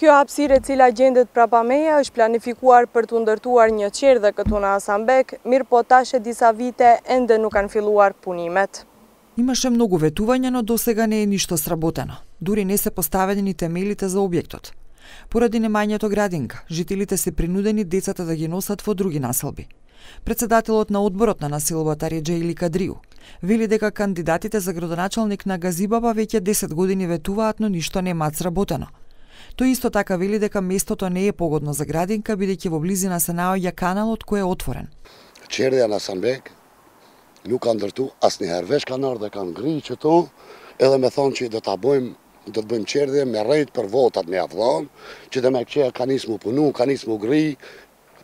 Kjo hapësirë e cila gjendet prapa meja është planifikuar për të ndërtuar një qerdhe këtu në Hasanbek, mirë po tash e disa vite ende nuk kanë filluar punimet. Имаше многу ветувања, но досега не е ништо сработено. Дури не се поставени ни темелите за објектот. Поради немањето градинка, жителите се принудени децата да ги носат во други населби. Председателот на одборот на населбата Реџа Или Кадриу вели дека кандидатите за градоначалник на Газибаба веќе 10 години ветуваат, но ништо немаат сработено. Тој исто така вели дека местото не е погодно за градинка, бидејќи во близина се наоѓа каналот кој е отворен. Qerdhja në Hasanbek nuk ka ndërtu asnjëherë. Veç kanë ardhur dhe kanë ngritë qëto, edhe me thonë që do të bëjmë qerdhje me rrejt për votat me afdhon, që dhe me këqeja ka nisë mu punu, ka nisë mu gri,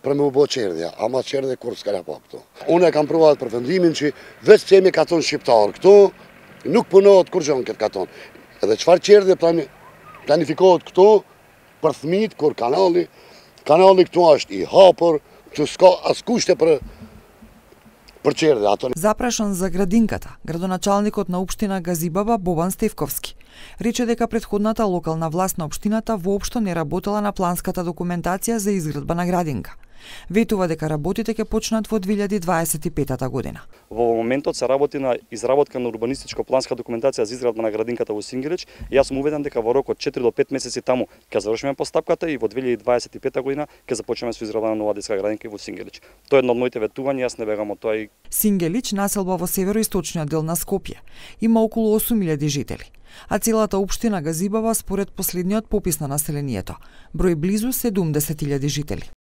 për me u bo qerdhja. Ama qerdhje kur s'ka pa këtu. Unë e kam pruvat për vendimin që veç që jemi katon shqiptar këtu, nuk punohet kur gjonë këtë katon. Edhe qëfar qerdhje planifikohet këtu për thmit, kur kanali këtu është i hapur, që s'ka as kushte për qerdhje. Запрашан за градинката, градоначалникот на општина Газибаба Бобан Стевковски рече дека претходната локална власт на општината воопшто не работела на планската документација за изградба на градинка. Ветува дека работите ќе почнат во 2025 година. Во моментот се работи на изработка на урбанистичко-планска документација за изградба на градинката во Сингелич и јас сум уведен дека во рок од 4 до 5 месеци таму ќе завршиме постапката и во 2025 година ќе започнеме со изградба на нова детска градинка во Сингелич. Тоа е едно од моите ветувања, јас не бегам од тоа. Сингелич, населба во североисточниот дел на Скопје, има околу 8000 жители, а целата општина Газибаба според последниот попис на населението брои близу 70.000 жители.